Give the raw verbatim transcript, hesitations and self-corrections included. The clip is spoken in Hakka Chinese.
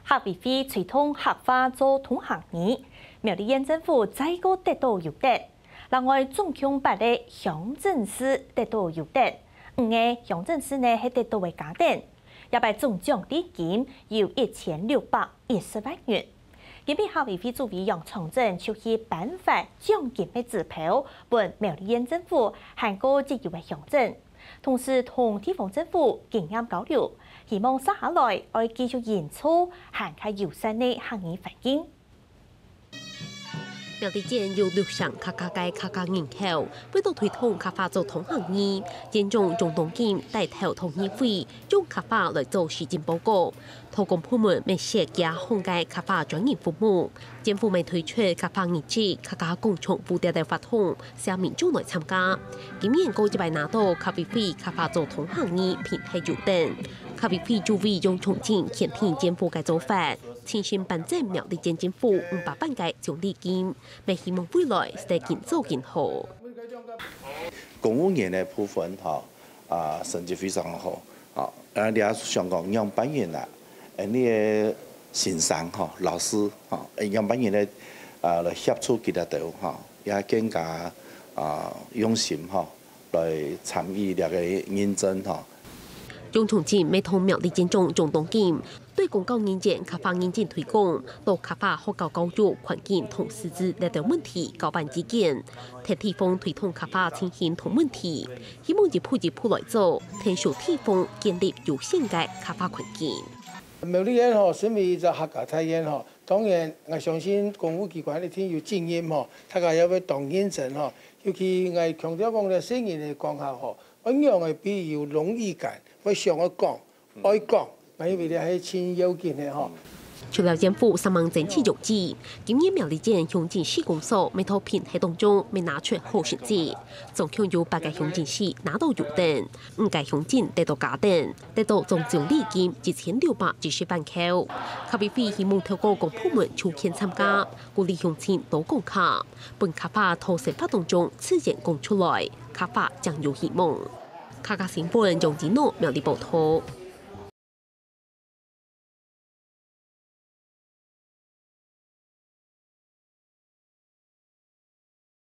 客委會推動客話做通行語，苗栗縣政府再過得到優待。另外，總共八个鄉鎮市得到優待，五个鄉鎮市呢係得到个加點。這擺總獎勵金有一千六百一十萬元。今晡日客委會主委楊長鎮就去頒發獎金个支票分苗栗縣政府還過一有个鄉鎮，同時同地方政府經驗交流，希望接下來愛繼續營造還較友善个客語環境。苗栗縣有六成較加个客家人口，為著推動客話做通行語，縣長張東錦帶頭同議會，用客話來做施政報告。 多公部門乜設幾項个客話專業服務，政府乜推出客話日誌、客家廣場舞等等活動，吸引民眾來參加。今年過一擺拿到客委會客話做通行語評核優等。客委會主委楊長鎮肯定政府个做法，親身頒贈苗栗縣政府五百萬个獎勵金，乜希望未來係得緊做緊好。公務員个部分吼，啊，成績非常好。 吼，啊，你也想講仰般形啊，呃，你个先生吼，老師吼，呃，仰般形个，啊，來協助佢兜吼，也更加，啊，用心吼，來參與這个認證吼。楊長鎮乜同苗栗縣長張東錦，對公教人員客話認證推廣，到客話學校教育環境同師資這兜問題交辦意見，替地方推動客話情形同問題。 希望一步一步來做，𢯭手地方建立友善个客話環境。苗栗縣吼，身為一隻客家大縣吼，當然，𠊎相信公務機關一定有責任吼，大家也會當認真吼。尤其𠊎強調講咧，細人个講客吼，愛仰會比有榮譽感，會想愛講， 愛講，𠊎認為這係盡要緊个吼。除了縣府煞猛爭取用地，今年苗栗縣鄉鎮市公所每到評核當中，乜拿出好成績。總共有八个鄉鎮市拿到優等，五个鄉鎮得到加等，得到總獎勵金一千六百一十萬箍。客委會希望透過公部門抽籤參加，鼓勵鄉親多講客，分客話在生活當中自然講出來，客話正有希望。客家新聞楊子諾苗栗報導。